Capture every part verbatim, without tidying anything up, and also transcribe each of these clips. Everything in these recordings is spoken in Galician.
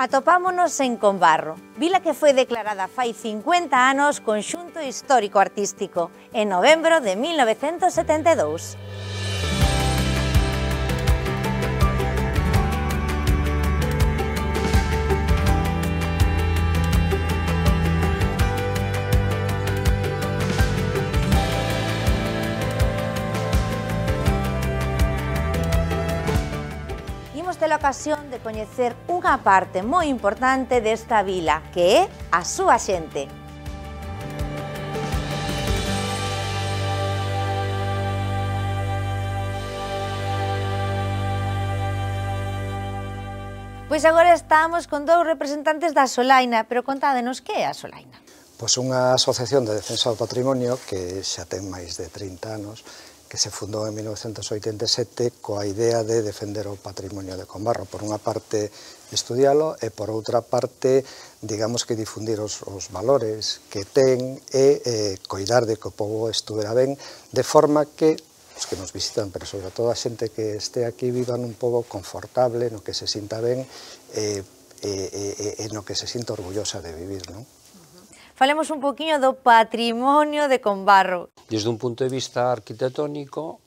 Atopámonos en Combarro, vila que foi declarada fai cincuenta anos Conxunto Histórico Artístico, en novembro de mil novecentos setenta e dous. Temos a ocasión de coñecer unha parte moi importante desta vila, que é a súa xente. Pois agora estamos con dous representantes da Solaina, pero contádenos que é a Solaina. Pois unha asociación de defensa do patrimonio que xa ten máis de trinta anos, que se fundou en mil novecentos oitenta e sete coa idea de defender o patrimonio de Combarro. Por unha parte, estudialo e por outra parte, digamos que difundir os, os valores que ten e eh, coidar de que o povo estuvera ben, de forma que os que nos visitan, pero sobre todo a xente que este aquí, viva nun pobo confortable, no que se sinta ben e, e, e, e no que se sinta orgullosa de vivir, non? Falemos un poquinho do patrimonio de Combarro. Desde un punto de vista arquitectónico,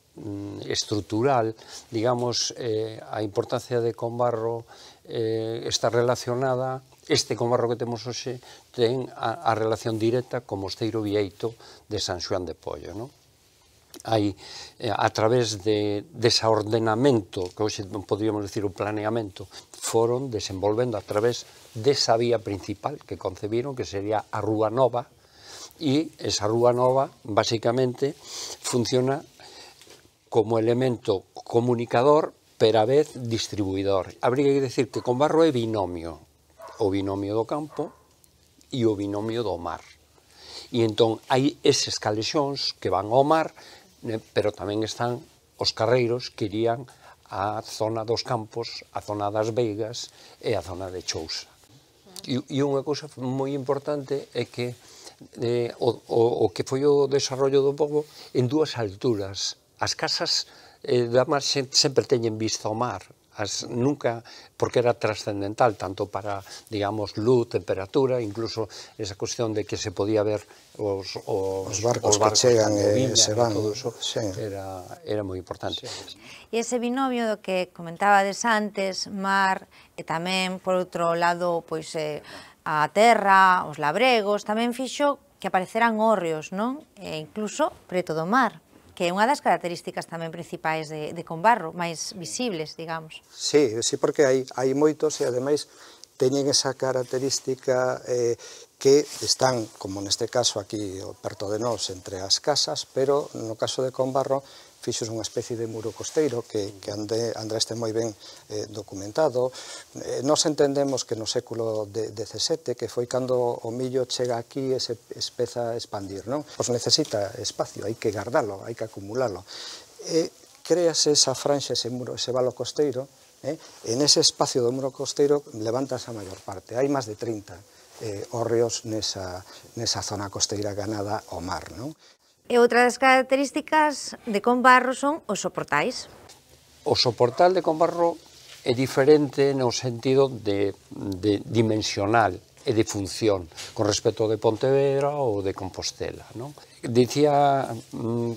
estrutural, digamos, eh, a importancia de Combarro eh, está relacionada, este Combarro que temos hoxe ten a, a relación directa co Mosteiro Vieito de San Xoán de Pollo, non? Hai, eh, a través de, desa ordenamento, que hoxe podríamos decir o planeamento, foron desenvolvendo a través desa vía principal que concebiron, que sería a Rúa Nova, e esa Rúa Nova, basicamente, funciona como elemento comunicador, pero a vez distribuidor. Habría que decir que Combarro é binomio, o binomio do campo e o binomio do mar. E entón hai eses calexóns que van ao mar, pero tamén están os carreiros que irían á zona dos campos, a zona das veigas e a zona de Chousa. E, e unha cousa moi importante é que eh, o, o, o que foi o desarrollo do pobo en dúas alturas. As casas eh, da mar sempre teñen vista ao mar, as, nunca, porque era trascendental, tanto para, digamos, luz, temperatura, incluso esa cuestión de que se podía ver os, os, os barcos, os barcos que chegan e se van, todo eso, sí. era, era moi importante. Sí. E ese binomio do que comentabades antes, mar, e tamén, por outro lado, pois, eh, a terra, os labregos, tamén fixo que apareceran hórreos, non? E incluso preto do mar, que é unha das características tamén principais de, de Combarro, máis visibles, digamos. Sí, sí, porque hai, hai moitos e ademais teñen esa característica eh, que están, como neste caso aquí perto de nós, entre as casas, pero no caso de Combarro fixos unha especie de muro costeiro que, que ande, Andrés ten moi ben eh, documentado. Eh, nos entendemos que no século dezasete, que foi cando o millo chega aquí e se espeza a expandir, non? Pois necesita espacio, hai que guardalo, hai que acumulalo. E créase esa franxa, ese muro, ese valo costeiro, eh? En ese espacio do muro costeiro levantase a maior parte. Hai máis de trinta eh, hórreos nesa, nesa zona costeira ganada ao mar, non? E outra das características de Combarro son os soportais. O soportal de Combarro é diferente no sentido de, de dimensional e de función con respecto de Pontevedra ou de Compostela, non? Dicía,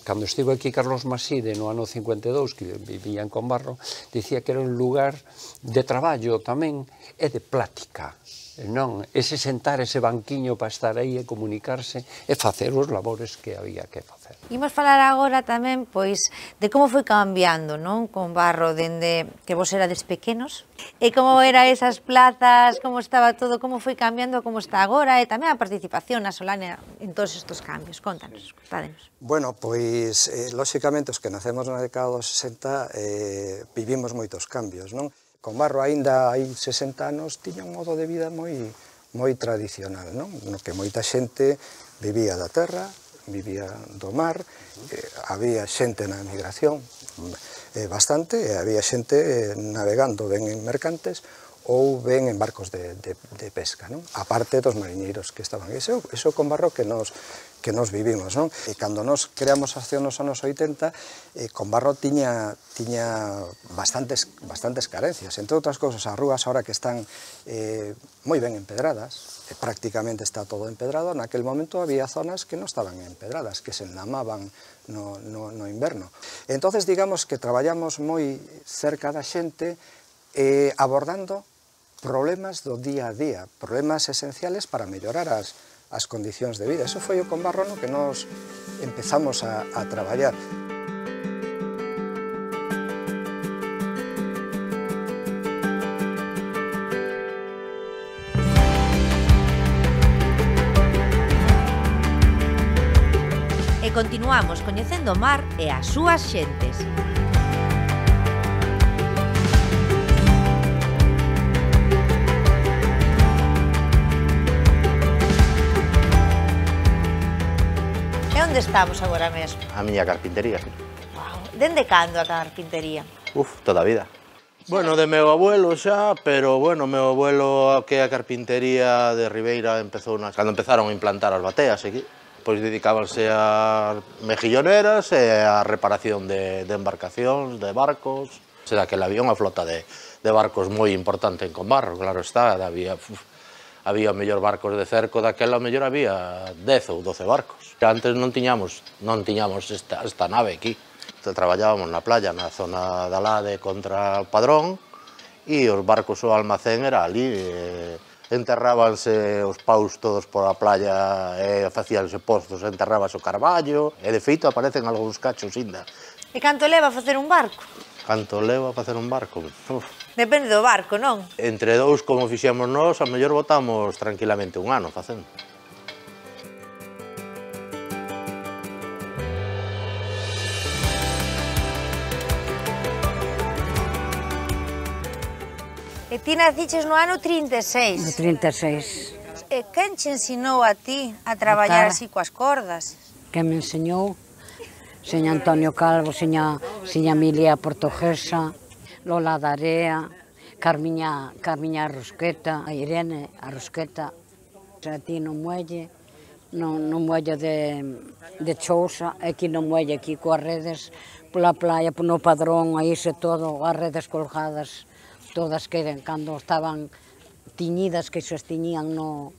cando estivo aquí Carlos Maside no ano cincuenta e dous, que vivía en Combarro, dicía que era un lugar de traballo tamén e de plática. Non, ese sentar, ese banquiño para estar aí e comunicarse e facer os labores que había que facer. Imos falar agora tamén, pois, de como foi cambiando, non, Combarro, dende que vos erades pequenos, e como eran esas plazas, como estaba todo, como foi cambiando, como está agora, e tamén a participación na Solaina en todos estes cambios. Contanos, contádenos. Bueno, pois, eh, lóxicamente, os que nacemos na década dos sesenta eh, vivimos moitos cambios, non? Combarro, aínda hai sesenta anos, tiña un modo de vida moi, moi tradicional, non? No que moita xente vivía da terra, vivía do mar, eh, había xente na emigración, eh, bastante, e había xente eh, navegando ben en mercantes, ou ben en barcos de, de, de pesca, non? Aparte dos mariñeiros que estaban. Iso, iso con barro que nos, que nos vivimos, non? E cando nos creamos hace nos anos oitenta, eh, con barro tiña, tiña bastantes, bastantes carencias. Entre outras cousas, as rúas ahora que están eh, moi ben empedradas, eh, prácticamente está todo empedrado, naquel momento había zonas que non estaban empedradas, que se enlamaban no, no, no inverno. Entonces, digamos que traballamos moi cerca da xente, eh, abordando problemas do día a día, problemas esenciales para mellorar as, as condicións de vida. Eso foi o con barro no que nos empezamos a, a traballar. E continuamos coñecendo o mar e as súas xentes. Onde estamos agora mesmo? A miña carpintería. Wow. Dende cando a carpintería? Uf, toda a vida. Bueno, de meu abuelo xa, pero bueno, meu abuelo que a carpintería de Ribeira empezou nas... cando empezaron a implantar as bateas aquí, pois dedicábanse a mejilloneras e a reparación de, de embarcacións, de barcos. Se daquela había unha flota de, de barcos moi importante en Combarro, claro está, había... Uf, había mellor barcos de cerco, daquela mellor había dez ou doce barcos. Antes non tiñamos, non tiñamos esta, esta nave aquí. Traballábamos na playa, na zona da Lade contra o Padrón, e os barcos o almacén era ali. Eh, enterrábanse os paus todos por a playa, e facíanse postos, enterrábase o carballo, e de feito aparecen algúns cachos inda. E canto leva a facer un barco? Canto leva a facer un barco? Uf. Depende do barco, non? Entre dous, como fixemos nós, a mellor botamos tranquilamente un ano facendo. E ti naciches no ano trinta e seis. No trinta e seis. E quen che ensinou a ti a traballar así coas cordas? Quen me enseñou? Seña Antonio Calvo, seña, seña Emilia Portuguesa, Lola Darea, Carmiña, Carmiña Rusqueta, a Irene, a Rusqueta, a ti no muelle, no, no muelle de, de Chousa, aquí no muelle, aquí coas redes, pola playa, no Padrón, aí se todo, as redes colgadas, todas que cando estaban tiñidas, que se tiñían no,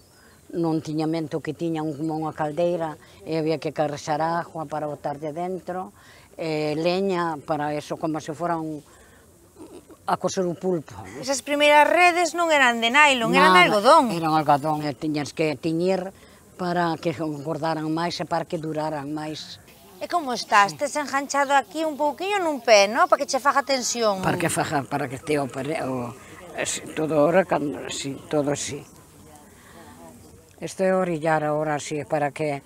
no tiñamento que tiñan como unha caldeira, e había que carrexar agua para botar de dentro, e leña para eso, como se foran a coser o pulpo. Esas primeiras redes non eran de nylon, eran de algodón. Eran algodón, e tiñas que tiñir para que engordaran máis e para que duraran máis. E como estás? Tes enganchado aquí un pouquiño nun pé, non? Para que che faga tensión. Para que faga, para que te opere, o, todo ahora, sí, todo así. Isto é orillar ahora así, para que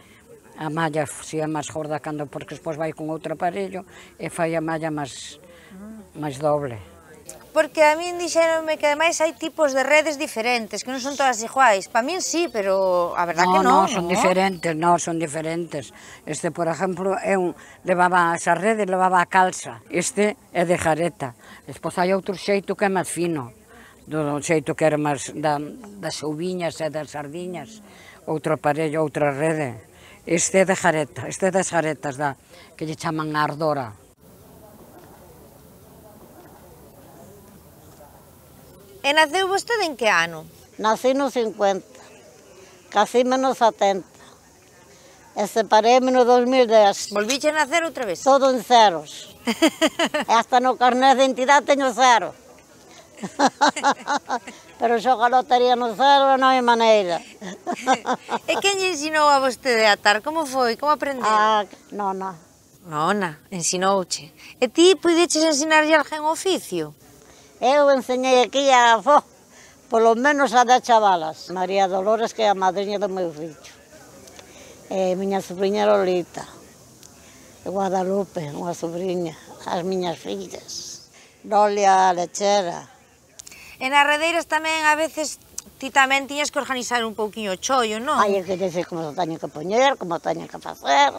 a malla sea máis gorda, cando, porque despois vai con outro aparello e fai a malla máis, máis doble. Porque a min dixeronme que ademais hai tipos de redes diferentes, que non son todas iguais. Para min sí, pero a verdad no, que non. No, son ¿no? diferentes, no, son diferentes. Este, por exemplo, é un, levaba esa rede, levaba a calza. Este é de jareta. Despois hai outro xeito que é máis fino, do xeito que era máis da, das ouviñas e das sardiñas. Outro aparello, outra rede. Este é de jareta, este é das jaretas da, que lle chaman a ardora. E naceu vostede en que ano? Nací no cincuenta, casíme no setenta, e separéme no dos mil dez. Volvíche a nacer outra vez? Todo en ceros. E hasta no carnet de identidade teño cero. Pero xoga lotería no cero non hai maneira. E quen lle ensinou a vostede a atar? Como foi? Como aprendeu? Ah, nona. Nona, ensinouche. E ti puideches ensinarlle alguén oficio? Eu enseñei aquí a avó, polo menos a dez chavalas. María Dolores, que é a madriña do meu fillo. E miña sobrinha Lolita. E Guadalupe, unha sobrinha. As miñas fillas. Lolia Lechera. E nas redeiras tamén, a veces, ti tamén tiñas que organizar un pouquiño o chollo, non? Hai que dizer como se teñen que poñer, como teñen que facer.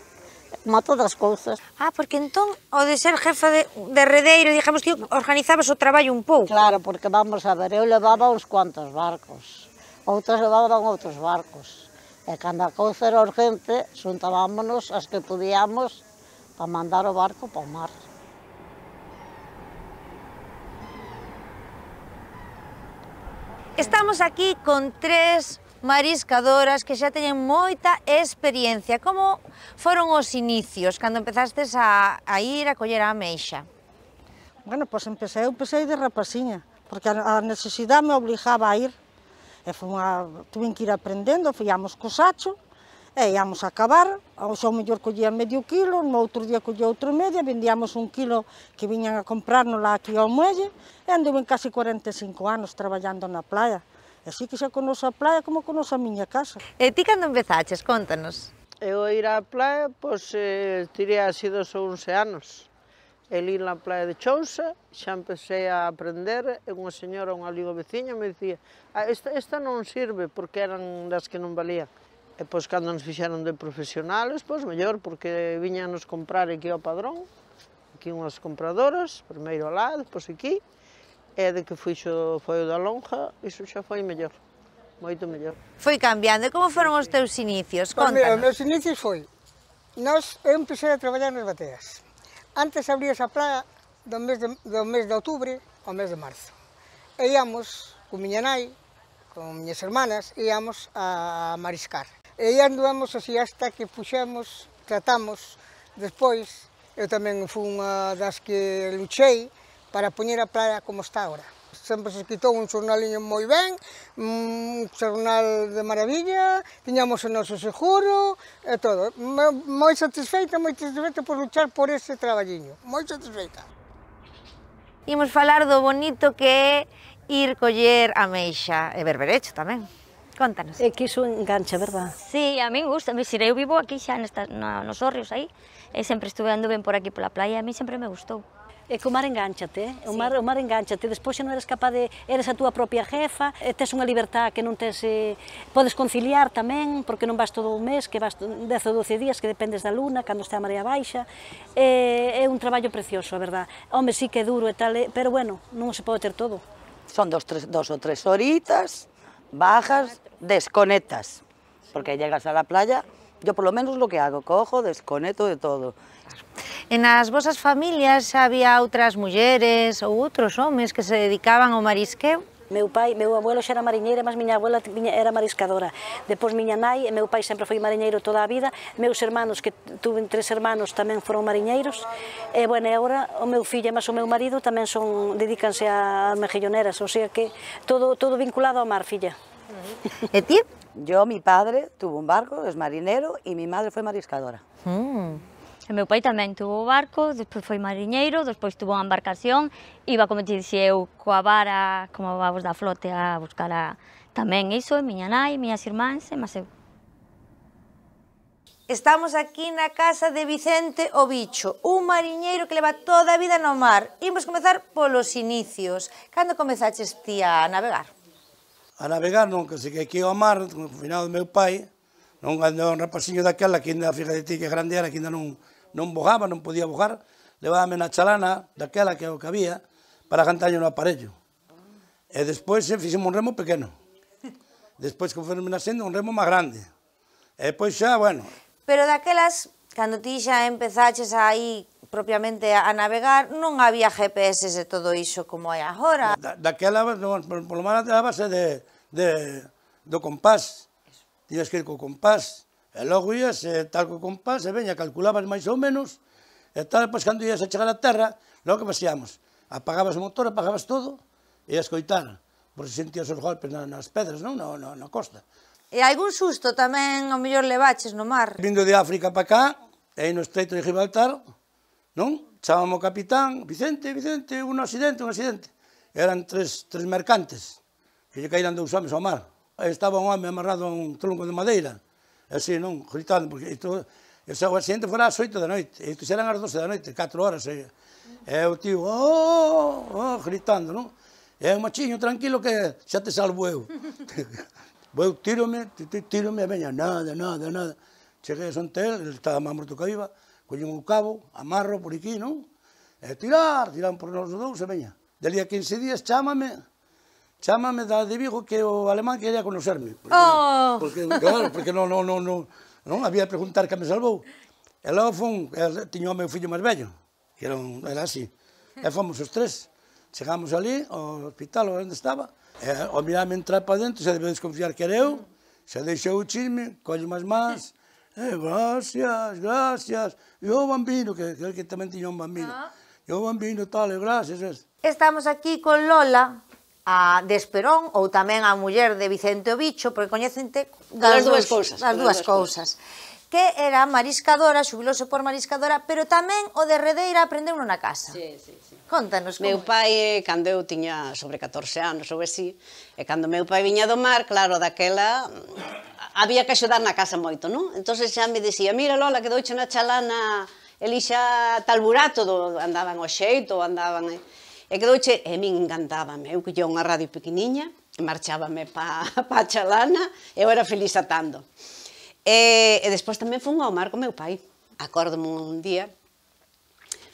como todas as cousas. Ah, porque entón, o de ser jefa de, de redeiro, digamos que organizabas o traballo un pouco. Claro, porque vamos a ver, eu levaba uns cuantos barcos, outros levaban outros barcos. E cando a cousa era urgente, xuntábamos as que podíamos para mandar o barco para o mar. Estamos aquí con tres mariscadoras que xa teñen moita experiencia. Como foron os inicios, cando empezastes a, a ir a coller a ameixa? Bueno, pois empecé, eu empecé de rapaciña, porque a necesidade me obligaba a ir. E foi unha, tuve que ir aprendendo, fíamos co sacho, e íamos a cavar, ao xo mellor collía medio quilo, no outro día collía outro medio, vendíamos un quilo que viñan a comprarnos lá aquí ao muelle, e anduve casi cuarenta e cinco anos traballando na playa. E así que xa conozo a playa como conozo a miña casa. E ti cando empezaches? Contanos. Eu ir á playa, pois, eh, tirei así dos onze anos. El ir na playa de Chousa, xa empecé a aprender, e unha señora, unha amigo veciña, me dicía, ah, esta, esta non sirve, porque eran das que non valían. E pois, cando nos fixeron de profesionales, pois, mellor, porque viñanos comprar aquí ao Padrón, aquí unhas compradoras, primeiro alá, depois aquí, e de que fixo foi o da lonja, iso xa foi mellor, moito mellor. Foi cambiando. E como foron os teus inicios? Pois mira, os Contanos. meus inicios foi, nós, eu empecé a traballar nas bateas. Antes abríase a praia do mes de, do mes de outubro ao mes de marzo. E íamos, con miña nai, con miñas hermanas, íamos a mariscar. E anduvemos así hasta que puxemos, tratamos, despois, eu tamén fui unha das que luchei para poñer a praia como está agora. Sempre se quitou un xornaliño moi ben, un xornal de maravilla, tiñamos o noso seguro e todo. Moi satisfeita, moi satisfeita por luchar por ese traballiño, moi satisfeita. Imos falar do bonito que é ir coller ameixa e berberecho tamén. Contanos. É que iso engancha, verdad? Sí, a min gusta, me xire, eu vivo aquí xa nesta, na, nos Hórreos aí, e sempre estuve ando ben por aquí pola playa, a mí sempre me gustou. É que o mar enganchate, eh? o, mar, o mar enganchate, despois xa non eres capaz de, eres a túa propia jefa, e tes unha libertad que non tes, eh, podes conciliar tamén, porque non vas todo o mes, que vas dez ou doce días, que dependes da luna, cando está a marea baixa, é, é un traballo precioso, a verdad. Home, sí que é duro e tal, pero bueno, non se pode ter todo. Son dos, tres, dos o tres horitas, bajas, desconectas, porque llegas a la playa, yo por lo menos lo que hago, cojo, desconecto de todo. E nas vosas familias xa había outras mulleres ou outros homes que se dedicaban ao marisqueo? Meu pai, meu abuelo xa era mariñeiro, mas miña abuela era mariscadora. Depois miña nai e meu pai sempre foi mariñeiro toda a vida. Meus hermanos, que tuve tres hermanos, tamén foron mariñeiros. E, bueno, e agora o meu fillo e mas o meu marido tamén son, dedícanse a mejilloneras, o sea que todo, todo vinculado ao mar, filla. E ti? Yo, mi padre tuvo un barco, es marinero, y mi madre fue mariscadora. Mm. E meu pai tamén tuvo o barco, despois foi mariñeiro, despois tuvo unha embarcación, iba, como te dixía eu, coa vara, como vamos da flote, a buscar a, tamén iso, miña nai, miñas irmáns, e mas eu. Estamos aquí na casa de Vicente o Bicho, un mariñeiro que leva toda a vida no mar. Imos comezar polos inicios. Cando comezaches ti a navegar? A navegar non, que se que aquí ao mar, no final do meu pai, non andou un rapaciño daquela, que ainda, fíjate ti que grande era, que ainda non, non bojaba, non podía bojar, levábame na chalana daquela que é o que había, para cantaño no aparello. E despois fixemos un remo pequeno. Despois que fomos nascendo un remo máis grande. E depois xa, bueno... Pero daquelas, cando ti xa empezaches aí propiamente a navegar, non había G P S e todo iso como hai agora. Da, daquela, no, por, por lo menos, a base de, de, do compás. Tías que ir co compás, e logo ías e tal co compás, e veña, calculabas máis ou menos, e tal, pois, cando ías a chegar a terra, logo que facíamos, apagabas o motor, apagabas todo, e a escoitar, por se sentías os golpes nas pedras, non? Na, na, na costa. E algún susto tamén, ao mellor, levaches no mar? Vindo de África para cá, e aí no estreito de Gibraltar, non? Chábamos o capitán, Vicente, Vicente, un accidente, un accidente. Eran tres, tres mercantes, que lle caíran dous homes ao mar. Estaba un home amarrado a un tronco de madeira, así, non, gritando, porque isto, ese accidente fora ás oito da noite, e isto eran ás doce da noite, catro horas, e, e o tío, oh, oh, gritando, non? E un machiño tranquilo que xa te salvo eu. Eu tírome, tírome, e veña, nada, nada, nada. Cheguei a Sontel, ele estaba máis morto que viva, collín o cabo, amarro por aquí, non? E tirar, tiran por nos dous e veña. Dali a quince días chámame, chámame da de Vigo que o alemán quería conocerme. Porque, Oh. porque, claro, porque non, non, non, non, non había de preguntar que me salvou. E logo fun, tiño o meu fillo máis vello, que era, un, era así. E fomos os tres. Chegamos ali, ao hospital onde estaba, e ao mirarme entrar para dentro, se debe desconfiar que era eu, se deixou o chisme, colle máis máis, eh, gracias, gracias, e o bambino, que, que, que tamén tiña un bambino, Ah. e o bambino tal, e gracias, ves. Estamos aquí con Lola, a de Esperón, ou tamén a muller de Vicente o Bicho, porque coñecente Das dúas cousas, das dúas cousas. Que era mariscadora, xubilose por mariscadora, pero tamén o de Redeira aprendeu na casa. Sí, sí, sí. Contanos como. Meu pai, cando eu tiña sobre catorce anos ou así, e cando meu pai viña do mar, claro, daquela había que axudar na casa moito, non? Entón xa me dicía, mira Lola, que douche na chalana elixa tal burato, do, andaban ao xeito, andaban... E, e que douche, e min encantábame, eu collía unha radio pequeniña, e marchábame pa, pa chalana, e eu era feliz atando. E, e despois tamén fun ao mar con meu pai. Acórdome un día,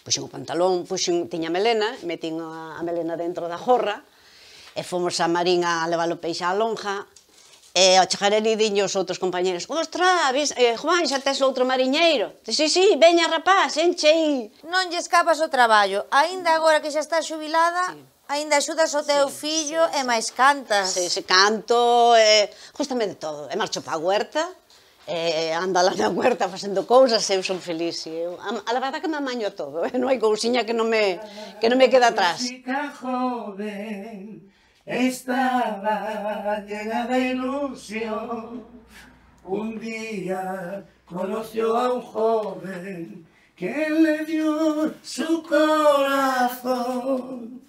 puxen o pantalón, puxen, tiña melena, metín a, a melena dentro da jorra, e fomos a Marín a levar o peixe á lonja, e ao chegar ali diño os outros compañeros, ostra, vis, eh, Juan, xa tes outro mariñeiro? Si, si, veña rapaz, enche aí. Non lle escapas o traballo, aínda agora que xa estás xubilada, sí. Aínda axudas o teu sí, fillo sí, e máis cantas. Sí, se canto, e, justamente de todo, e marcho pa huerta, e ando lá na huerta facendo cousas, eu son feliz. Eu, a, a la verdad que me amaño a todo, eh? Non hai cousiña que non me, que non me queda atrás. Chica joven estaba llena de ilusión. Un día conoció a un joven que le dio su corazón.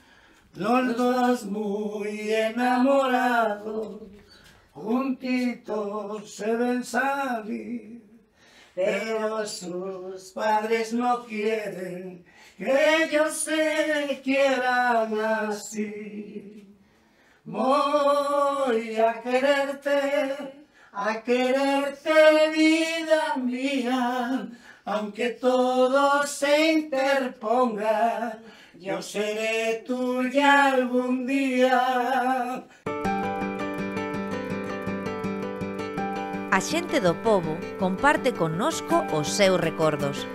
Los dos muy enamorados, juntitos se ven salir, pero sus padres no quieren que ellos se quieran así. Voy a quererte, a quererte, vida mía, aunque todo se interponga, yo seré tuya algún día. A xente do pobo comparte connosco os seus recordos.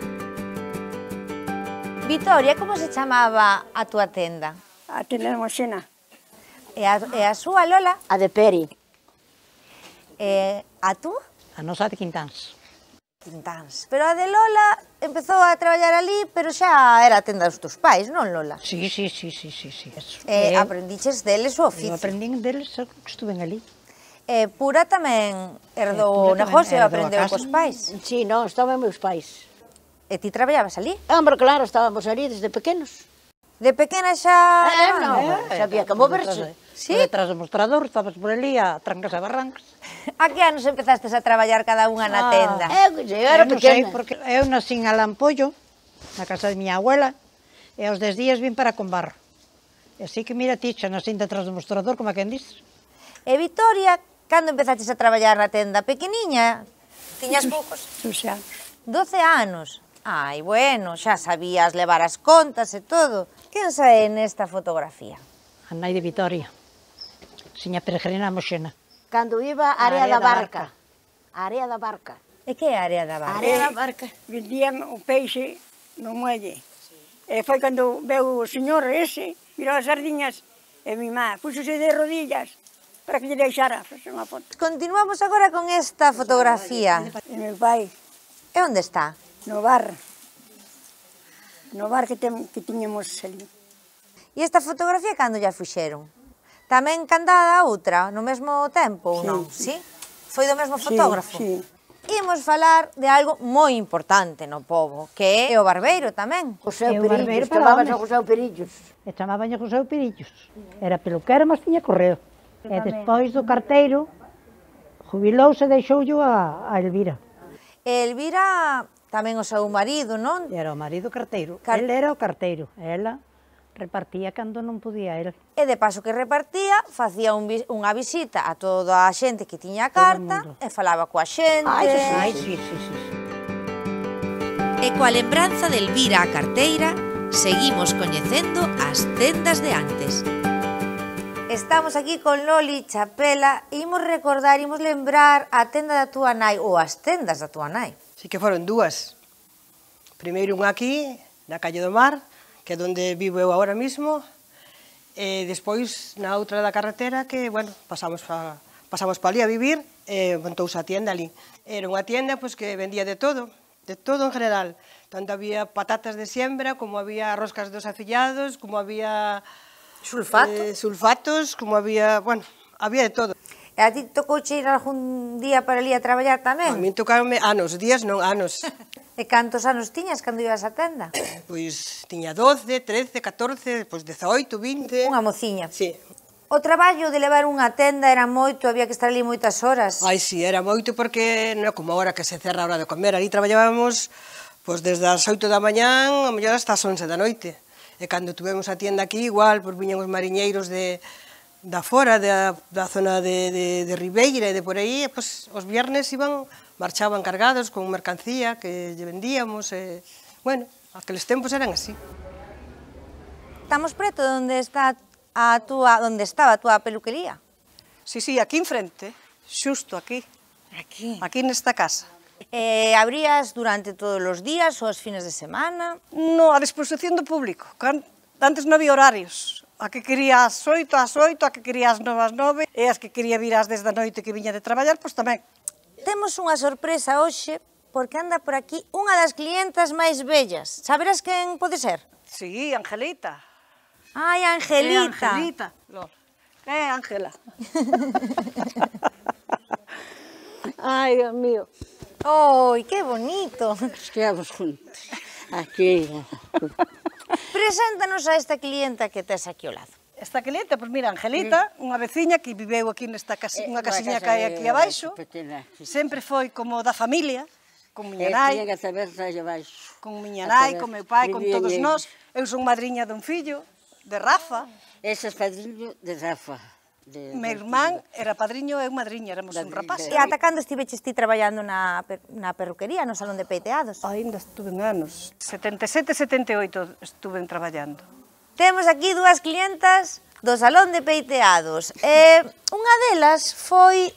Vitoria, como se chamaba a túa tenda? A tenda de Moxena. E a, e a súa, Lola? A de Peri. E a tú? A nosa de Quintáns. Quintáns. Pero a de Lola empezou a traballar ali, pero xa era a tenda dos teus pais, non, Lola? Sí, sí, sí, sí, sí, sí. E aprendiches deles o oficio? Eu aprendín deles que estuven ali. E Pura tamén herdou o negocio e aprendeu cos pais? Sí, non, estaban meus pais. E ti traballabas ali? Hombre, claro, estábamos ali desde pequenos. De pequena xa... Eh, non, sabía que moverse. Sí? Detrás do mostrador, estabas por ali a trancas e barrancas. A que anos empezastes a traballar cada unha na tenda? Eu, eu era pequena. Porque eu nací en Alampollo, na casa de miña abuela, e aos dez días vim para Combarro. E así que mira ti, xa nací detrás do mostrador, como a quen dices. E Vitoria, cando empezaches a traballar na tenda? Pequeniña? Tiñas poucos? doce anos. doce anos? Ai, bueno, xa sabías levar as contas e todo. Quen sae nesta fotografía? A nai de Vitoria. Seña peregrina a Moxena. Cando iba a área da barca. A área da barca. E que é a área da barca? A área da barca. Vendían o peixe no muelle. E foi cando veu o señor ese, mirou as sardiñas, e mi má puxose de rodillas para que lle deixara facer unha foto. Continuamos agora con esta fotografía. E meu pai. E onde está? No bar. No bar que, tem, que tiñamos ali. E esta fotografía cando ya fuxeron? Tamén candada a outra, no mesmo tempo, ou non? Sí? Foi do mesmo fotógrafo? Sí, sí. Imos falar de algo moi importante no pobo, que é o barbeiro tamén. José Perillos, chamaban a José Perillos. E chamaban a José Perillos. Era peluquero, mas tiña correo. E despois do carteiro, jubilouse e deixoulle a, a Elvira. Elvira tamén o seu marido, non? Era o marido carteiro. Car... El era o carteiro. Ela repartía cando non podía el. E de paso que repartía, facía un, unha visita a toda a xente que tiña a carta e falaba coa xente. Ai, sí, sí, sí, sí, sí. E coa lembranza de Elvira a carteira, seguimos coñecendo as tendas de antes. Estamos aquí con Loli Chapela e imos recordar, imos lembrar a tenda da túa nai, ou as tendas da túa nai. Sí que foron dúas. Primeiro unha aquí, na Calle do Mar, que é onde vivo eu agora mismo, e despois na outra da carretera que, bueno, pasamos pa, pasamos pa ali a vivir, e montouse a tienda ali. Era unha tienda pois, que vendía de todo, de todo en general. Tanto había patatas de siembra, como había roscas dos afillados, como había sulfatos, eh, sulfatos como había, bueno, había de todo. E a ti tocouche ir algún día para ali a traballar tamén? A mí tocaronme anos, días non, anos. E cantos anos tiñas cando ibas á tenda? Pois tiña doce, trece, catorce, pois dezaoito, vinte... Unha mociña. Sí. O traballo de levar unha tenda era moito, había que estar ali moitas horas. Ai, sí, era moito porque non é como agora que se cerra a hora de comer. Ali traballábamos pois, desde as oito da mañán, a mellor hasta as once da noite. E cando tuvemos a tienda aquí, igual, pois viñan os mariñeiros de, da fora, da, da zona de, de, de Ribeira e de por aí, e, pois, os viernes iban, marchaban cargados con mercancía que lle vendíamos. E, bueno, aqueles tempos eran así. Estamos preto de onde está a túa, onde estaba a túa peluquería? Sí, sí, aquí enfrente, xusto aquí. Aquí? Aquí nesta casa. Eh, abrías durante todos os días ou os fines de semana? No, a disposición do público. Antes non había horarios. A que quería ás oito, ás oito, a que quería ás nove, ás nove, e as que quería vir ás dez da noite que viña de traballar, pois tamén. Temos unha sorpresa hoxe, porque anda por aquí unha das clientas máis bellas. Saberás quen pode ser? Sí, Angelita. Ai, Angelita. É Angelita. É Ángela. Ai, Dios mío. Oi, que bonito. Estivemos juntos. Aquí. Preséntanos a esta clienta que tes aquí ao lado. Esta clienta, pois mira, Angelita, unha veciña que viveu aquí nesta casa, unha casiña que hai aquí abaixo, sempre foi como da familia, con miña nai, con miña nai, con meu pai, con todos nós. Eu son madriña dun fillo, de Rafa. Ese é padriño de Rafa. Meu irmán era padriño e eu madriña, éramos un rapaz. E ata cando estiveches ti traballando na, na perruquería, no salón de peiteados? Ainda estuve en anos. setenta e sete, setenta e oito estuve traballando. Temos aquí dúas clientas do salón de peiteados. E unha delas foi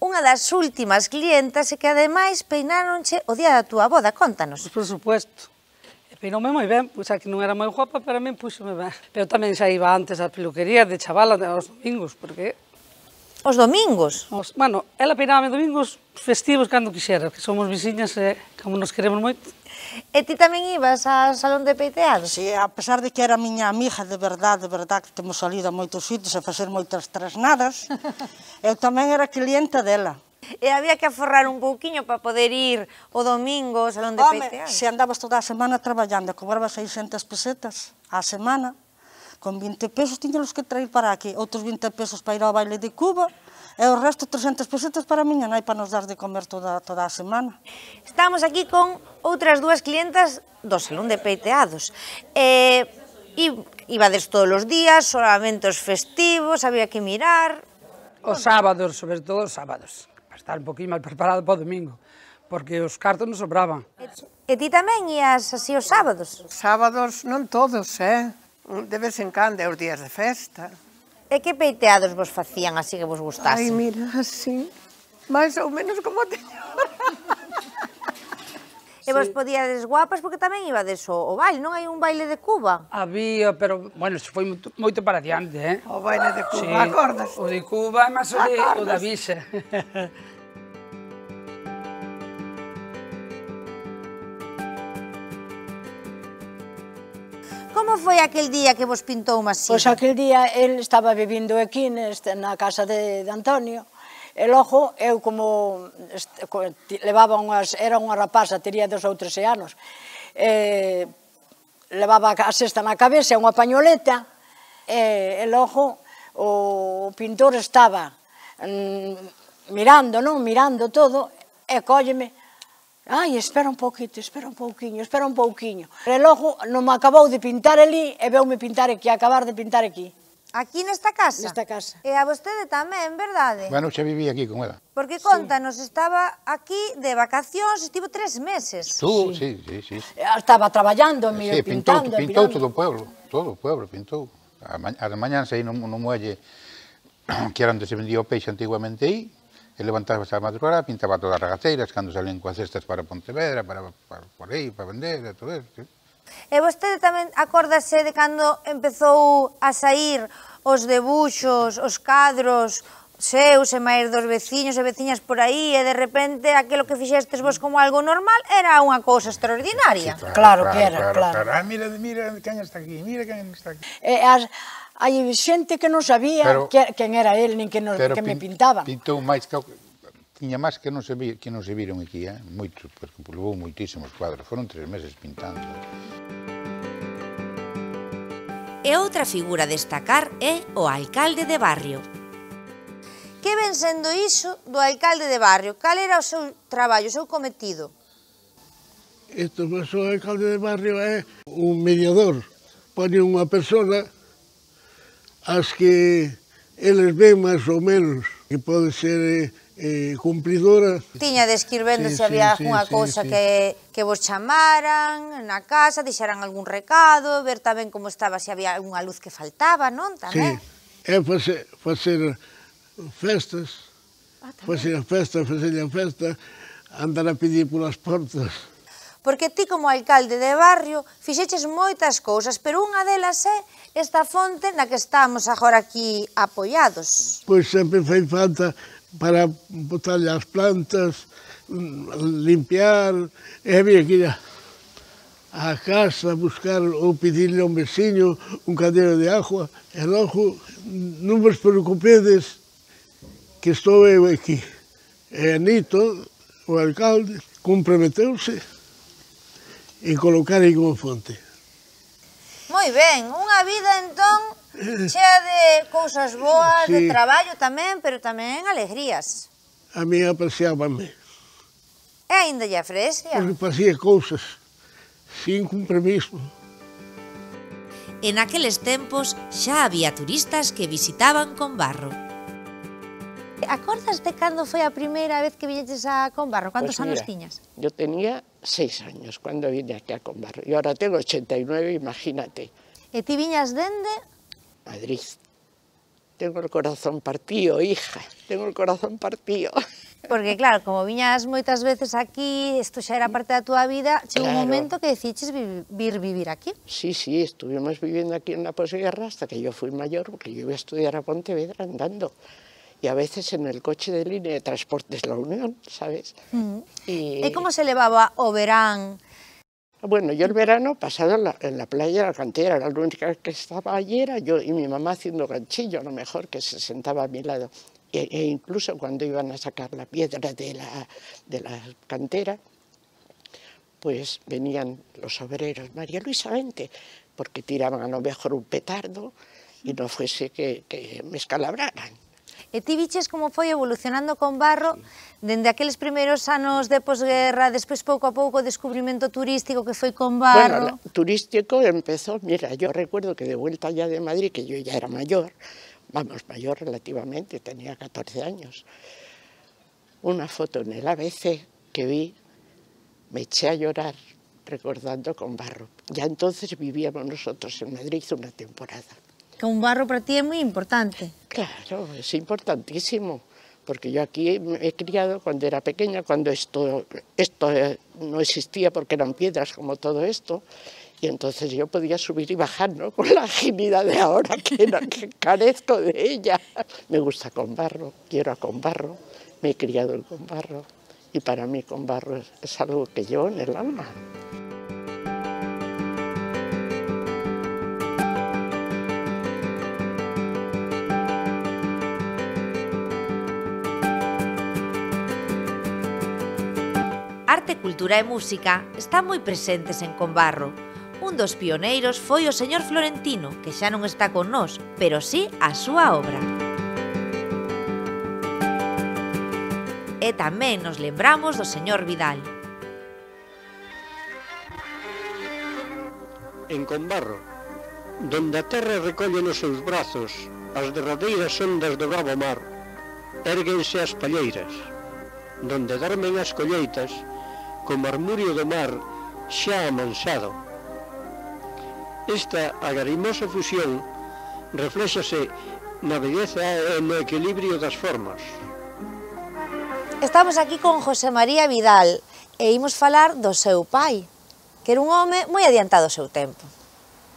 unha das últimas clientas e que ademais peináronche o día da túa boda. Contanos. Por supuesto. Peinoume moi ben, pois a que non era moi guapa, pero a min púxome ben. Pero tamén xa iba antes á peluquería de chavala aos domingos, porque... Os domingos? Os, bueno, ela peinábame domingos festivos cando quixera, que somos veciñas e como nos queremos moito. E ti tamén ibas ao salón de peiteados? Si, a pesar de que era miña amiga de verdade, de verdade, que temos salido a moitos sitios a facer moitas trasnadas, eu tamén era clienta dela. E había que aforrar un pouquiño para poder ir o domingo ao salón de Home, peiteados? se andabas toda a semana traballando, cobrabas seiscentas pesetas á semana, con vinte pesos tiñalos que traer para aquí, outros vinte pesos para ir ao baile de Cuba, e o resto trescentas pesetas para a miña nai para nos dar de comer toda, toda a semana. Estamos aquí con outras dúas clientas do salón de peiteados. E ibades todos os días, solamente os festivos, había que mirar... Os sábados, sobre todo os sábados. Estar un poquinho mal preparado para o domingo, porque os cartos non sobraban. E ti tamén ías así os sábados? Sábados non todos, eh? De vez en cando, os días de festa. E que peiteados vos facían así que vos gustasen? Ai, mira, así, máis ou menos como teño. E vos podíades guapas porque tamén ibades o baile, non hai un baile de Cuba? Había, pero, bueno, foi moito para diante, eh? O baile de Cuba, acordas? O de Cuba, mas o da Visa. Como foi aquel día que vos pintou Masía? Pois aquel día el estaba vivindo aquí na casa de Antonio, e logo eu como levaba unhas, era unha rapaza, tería dos ou trece anos, e levaba a cesta na cabeza e unha pañoleta, e logo o pintor estaba mirando, non, mirando todo, e cólleme, ai, espera un pouquito, espera un pouquiño, espera un pouquiño. E logo non me acabou de pintar ali e veume pintar aquí, acabar de pintar aquí. Aquí nesta casa? Nesta casa. E a vostede tamén, verdade? Bueno, xa viví aquí con ela. Porque contanos, estaba aquí de vacacións, estivo tres meses. Tú, sí, sí, sí. Estaba traballando, me Sí, pintou, pintando, pintou mirando. todo o pueblo, todo o pueblo pintou. As mañáns aí no, no muelle, que era onde se vendía o peixe antiguamente aí, e levantábase a madrugada, pintaba todas as regateiras, cando salían coas cestas para Pontevedra, para, para por aí, para vender, e todo eso, sí. E vostede tamén acórdase de cando empezou a sair os debuxos, os cadros seus e máis dos veciños e veciñas por aí, e de repente aquilo que fixestes vos como algo normal era unha cousa extraordinaria? Sí, claro, claro que era, claro. claro. Ah, mira, mira quen está aquí, mira quen está aquí. E as, hai xente que non sabía Pero, que, quen era el, nin que, nos, que me pintaban. Pintou máis que... Tiña máis que non se, vi, que non se viron aquí, eh? Moitos, porque levou moitísimos cuadros, foron tres meses pintando. E outra figura a destacar é o alcalde de barrio. Que ven sendo iso do alcalde de barrio? Cal era o seu traballo, o seu cometido? Isto, pues, o alcalde de barrio é un mediador. Pone unha persona as que eles ven máis ou menos, que pode ser eh, cumplidora. Tiñades que ir vendo Sí, se había sí, algunha sí, cousa sí. que, que vos chamaran na casa, deixaran algún recado, ver tamén como estaba, se había algunha luz que faltaba, non? Sí, Tamén. é facer, facer festas, Ah, facer a festa, facer a festa, andar a pedir polas portas. Porque ti como alcalde de barrio fixeches moitas cousas, pero unha delas é esta fonte na que estamos agora aquí apoiados. Pois sempre fai falta para botarlle as plantas, limpiar, e había que ir á casa, buscar ou pedirle a un veciño un cadero de agua, e logo non vos preocupedes que estou eu aquí. E Anito, o alcalde, comprometeuse en colocar aí unha fonte. Moi ben, unha vida entón chea de cousas boas, Sí. de traballo tamén, pero tamén alegrías. A mí apreciábame, E aínda lle aprecia. porque facía cousas sin compromiso. En aqueles tempos xa había turistas que visitaban Combarro. Acordas de cando foi a primeira vez que viñeches a Combarro? Cantos Pues anos mira, tiñas? Yo tenía seis años cuando vine aquí a Combarro y ahora tengo ochenta y nueve, imagínate. E ti viñas dende? Madrid. Tengo el corazón partido, hija, tengo el corazón partido. Porque claro, como viñas moitas veces aquí, isto xa era parte da túa vida, chegou un Claro. momento que deciches vi- vir vivir aquí. Sí, sí, estuvimos viviendo aquí en la posguerra hasta que yo fui mayor, porque yo iba a estudiar a Pontevedra andando. Y a veces en el coche de línea de transportes La Unión, ¿sabes? Mm. Y, E como se levaba o verán? Bueno, yo el verano pasado en la, en la playa de la cantera, la única que estaba allí era yo y mi mamá haciendo ganchillo, a lo mejor, que se sentaba a mi lado. E, e incluso cuando iban a sacar la piedra de la, de la cantera, pues venían los obreros, María Luisa, vente, porque tiraban a lo mejor un petardo y no fuese que, que me escalabraran. E ti viches como foi evolucionando Combarro dende aqueles primeiros anos de posguerra, despois pouco a pouco o descubrimento turístico que foi Combarro. Bueno, la, turístico empezó, mira, yo recuerdo que de vuelta ya de Madrid, que yo ya era mayor, vamos, mayor relativamente, tenía catorce años, una foto en el A B C que vi, me eché a llorar recordando Combarro. Ya entonces vivíamos nosotros en Madrid una temporada. Combarro para ti é moi importante. Claro, es importantísimo, porque yo aquí me he criado cuando era pequeña, cuando esto, esto no existía porque eran piedras como todo esto, y entonces yo podía subir y bajar, ¿no? Con la agilidad de ahora, que, no, que carezco de ella. Me gusta Combarro, quiero a Combarro, me he criado en Combarro, y para mí Combarro es, es algo que llevo en el alma. Arte, cultura e música están moi presentes en Combarro. Un dos pioneiros foi o señor Florentino, que xa non está con nós, pero sí a súa obra. E tamén nos lembramos do señor Vidal. En Combarro, Donde a terra recolle nos seus brazos as derradeiras ondas do bravo mar, érguense as palleiras, donde dormen as colleitas, co marmurio do mar xa amansado. Esta agarimosa fusión refléxase na belleza e no equilibrio das formas. Estamos aquí con José María Vidal e imos falar do seu pai, que era un home moi adiantado ao seu tempo.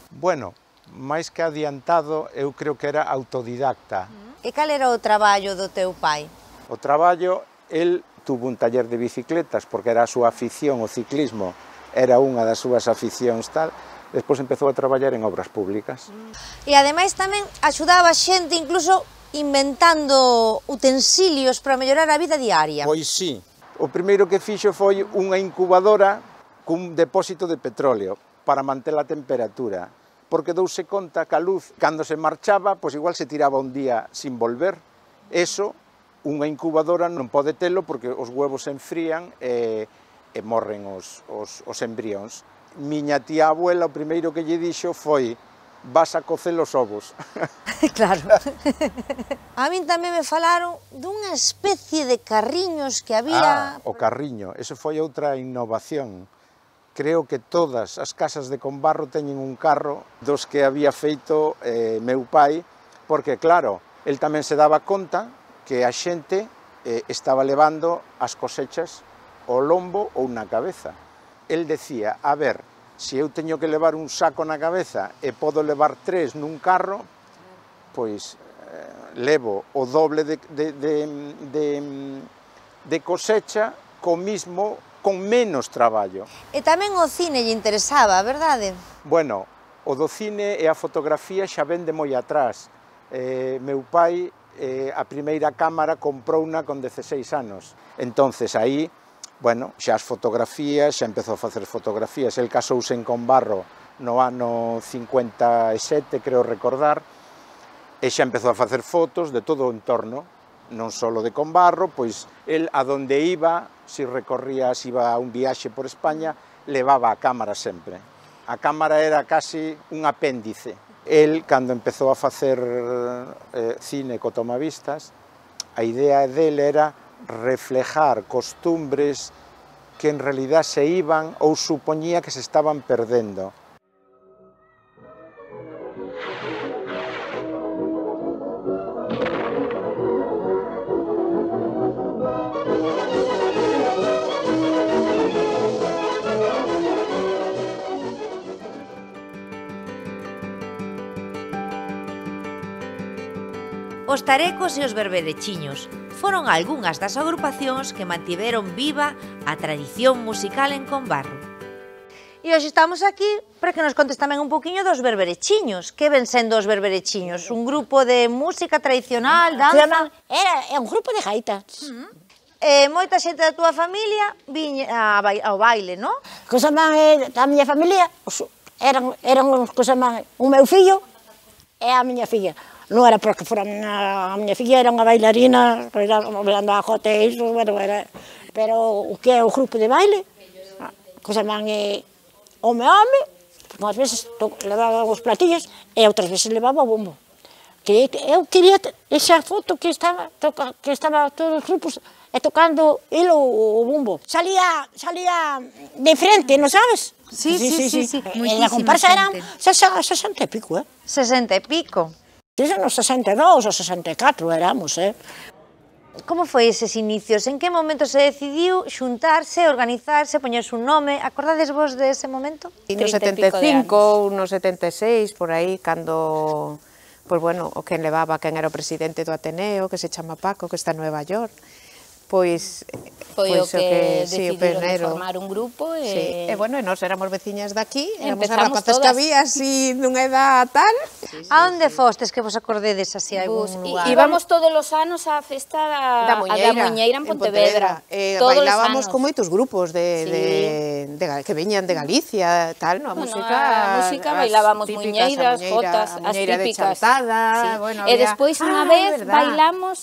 Bueno, máis que adiantado, eu creo que era autodidacta. E cal era o traballo do teu pai? O traballo, el tuvo un taller de bicicletas, porque era a súa afición, o ciclismo, era unha das súas aficións tal. Despois empezou a traballar en obras públicas. E ademais tamén axudaba a xente incluso inventando utensilios para mellorar a vida diaria. Pois sí. O primeiro que fixo foi unha incubadora cun depósito de petróleo para manter a temperatura, porque douse conta que a luz, cando se marchaba, pois igual se tiraba un día sin volver. Eso, unha incubadora non pode telo porque os huevos se enfrían e, e morren os, os, os embrións. Miña tía abuela, o primeiro que lle dixo foi: vas a cocer os ovos. Claro. A min tamén me falaron dunha especie de carriños que había... Ah, o carriño, eso foi outra innovación. Creo que todas as casas de Combarro teñen un carro dos que había feito eh, meu pai, porque claro, el tamén se daba conta que a xente eh, estaba levando as cosechas ao lombo ou na cabeza. El decía, a ver, se eu teño que levar un saco na cabeza e podo levar tres nun carro, pois eh, levo o doble de, de, de, de, de cosecha co mismo, con menos traballo. E tamén o cine lle interesaba, verdade? Bueno, o do cine e a fotografía xa vende moi atrás. Eh, meu pai, eh, a primeira cámara comprouna con dezaseis anos. Entonces, aí, bueno, xa as fotografías, xa empezou a facer fotografías. El casouse en Combarro no ano cincuenta e sete, creo recordar, e xa empezou a facer fotos de todo o entorno, non só de Combarro, pois el a donde iba, se recorría, se iba a un viaxe por España, levaba a cámara sempre. A cámara era casi un apéndice. El, cando empezou a facer eh, cine co tomavistas, a idea dele era reflejar costumbres que en realidad se iban ou supoñía que se estaban perdendo. Os tarecos e os berberechiños foron algunhas das agrupacións que mantiveron viva a tradición musical en Combarro. E hoxe estamos aquí para que nos contes tamén un poquinho dos berberechiños. Que ven sendo os berberechiños? Un grupo de música tradicional, danza? Era, era un grupo de gaitas. Uh -huh. E moita xente da túa familia viña ao baile, non? Cosa máis da miña familia eran, eran cosa máis un meu fillo e a miña filla. Non era porque fora a miña filla, era unha bailarina, bailando a jote e iso, bueno, era... Pero o que é o grupo de baile, cosa man é home-home, unhas veces levaba os platillos e outras veces levaba o bombo. Que eu quería esa foto que estaba, que estaba todos os grupos e tocando el o bombo. Salía, salía de frente, non sabes? Sí, sí, sí, sí, sí. E a comparsa eran sesenta e pico, eh? Sesenta e pico. Dicen nos sesenta e dous ou sesenta e catro éramos, eh? Como foi eses inicios? En que momento se decidiu xuntarse, organizarse, poñerse un nome? Acordades vos de ese momento? No setenta e cinco, no setenta e seis, por aí, cando, pois bueno, o quen levaba, quen era o presidente do Ateneo, que se chama Paco, que está en Nueva York, pois... Foi o que decidiron de formar un grupo e... Sí, e bueno, e nós éramos veciñas daqui, éramos as empezamos rapazas que todas. había así dunha edad tal. A onde fostes que vos acordedes así a algún Bus, lugar? i- Íbamos todos os anos á festa Da a Muñeira, da Muñeira en Pontevedra. Eh, Todos os bailábamos anos. con moitos grupos de, Sí. de, de, Ga- que veñan de Galicia, tal, no? A Bueno, música, a música as bailábamos típicas, a muñeiras, muñeira- jotas, a as muñeira de típicas. Chantada, Sí. bueno, E había- despois unha Ah, vez verdad. bailamos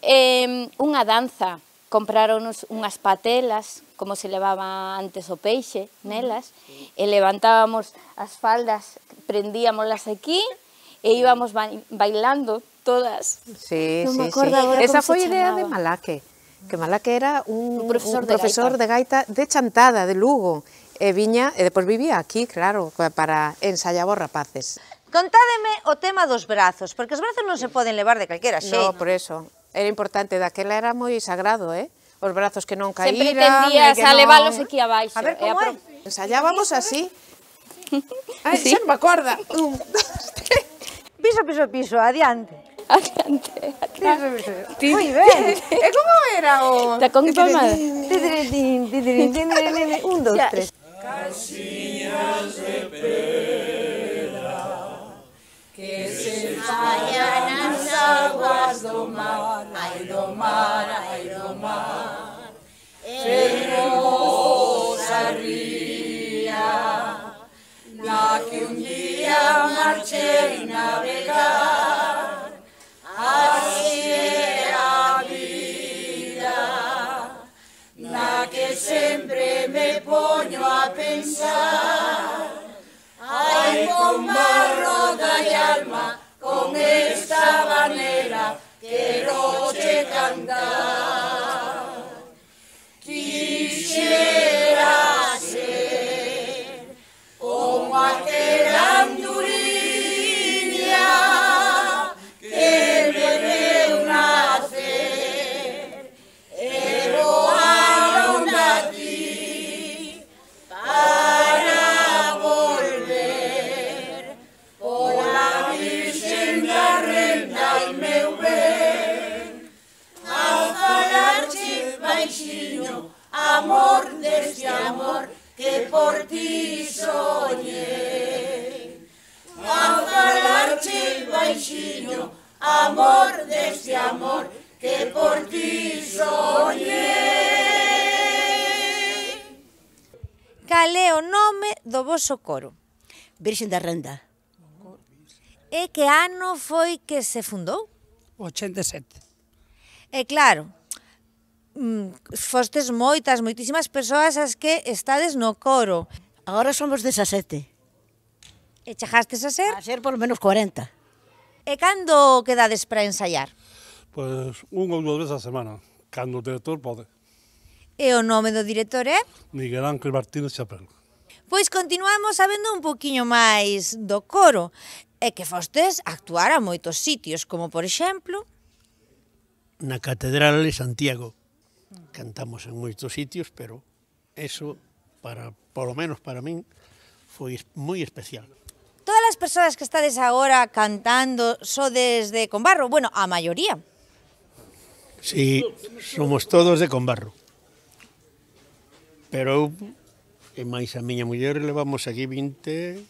eh, unha danza compraronos unhas patelas, como se levaba antes o peixe, nelas, e levantábamos as faldas, prendíamolas aquí, e íbamos bailando todas. Sí, Non me sí, acordo sí. agora Esa como se foi idea de chamaba. Malaque, que Malaque era un, Un profesor un de profesor de gaita de Chantada, de Lugo, e viña, e depois vivía aquí, claro, para ensayar os rapaces. Contádeme o tema dos brazos, porque os brazos non se poden levar de calquera xeito. No, por eso. Era importante, daquela era moi sagrado, eh? Os brazos que non caíran... Sempre tendías a leválos aquí abaixo. A ver, e como a é? Ensayábamos así. Ai, Sí. xa non me acorda. Un, Piso, piso, piso, adiante. Adiante, Piso, piso. Ti- Moi ben. E como era o... Tacón y palmada. Tidirín, tidirín, tidirín, un, dos, tres. Casillas de pedra que se fallan as aguas do mar, ai do mar, ai do mar. Fermosa ría, na que un día marchei navegar, así é a vida, na que sempre me poño a pensar. Ai, con barro da alma, con esta vanera, quero che cantar. Quixera ser como aquela anduriña que me deu nacer e voaron a ti para volver. Pola Virxen da Renda e meu ben, a falarche baixiño, amor deste amor que por ti soñei. A falarche baixiño, amor deste amor que por ti soñei. Cal é o nome do voso coro? Virxen da Renda. E que ano foi que se fundou? ochenta e sete. E claro, mm, fostes moitas, moitísimas persoas as que estades no coro. Agora somos dezasete. E chegastes a ser? A ser por lo menos cuarenta. E cando quedades para ensaiar? Pois unha ou dúas veces a semana, cando o director pode. E o nome do director é? Miguel Ángel Martínez Chapel. Pois continuamos sabendo un poquinho máis do coro, e que fostes actuar a moitos sitios, como por exemplo... Na Catedral de Santiago. Cantamos en moitos sitios, pero eso, para, polo menos para min, foi moi especial. Todas as persoas que estades agora cantando sodes de Combarro, bueno, a maioría. Si, somos todos de Combarro. Pero eu, e máis a miña muller, levamos aquí vinte,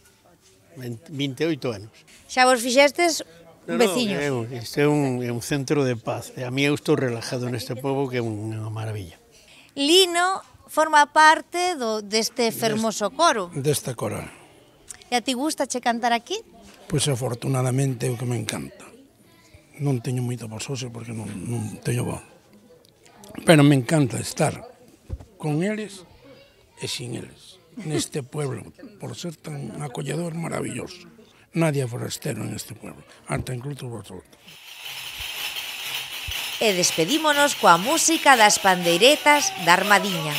veinteoito anos. Xa vos fixestes No, veciños. No, é, este é un, é un centro de paz. E a mí eu estou relajado neste pobo, que é unha maravilla. Lino forma parte do, deste fermoso coro. Desta coral. E a ti gusta che cantar aquí? Pois afortunadamente é o que me encanta. Non teño moita voz hoxe porque non, non teño voz. Pero me encanta estar con eles e sin eles. Neste pueblo, por ser tan acolledor, maravilloso. Nadie forastero en este pueblo, hasta incluso vosotros. E despedímonos coa música das pandeiretas da Armadiña.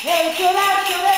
Hey,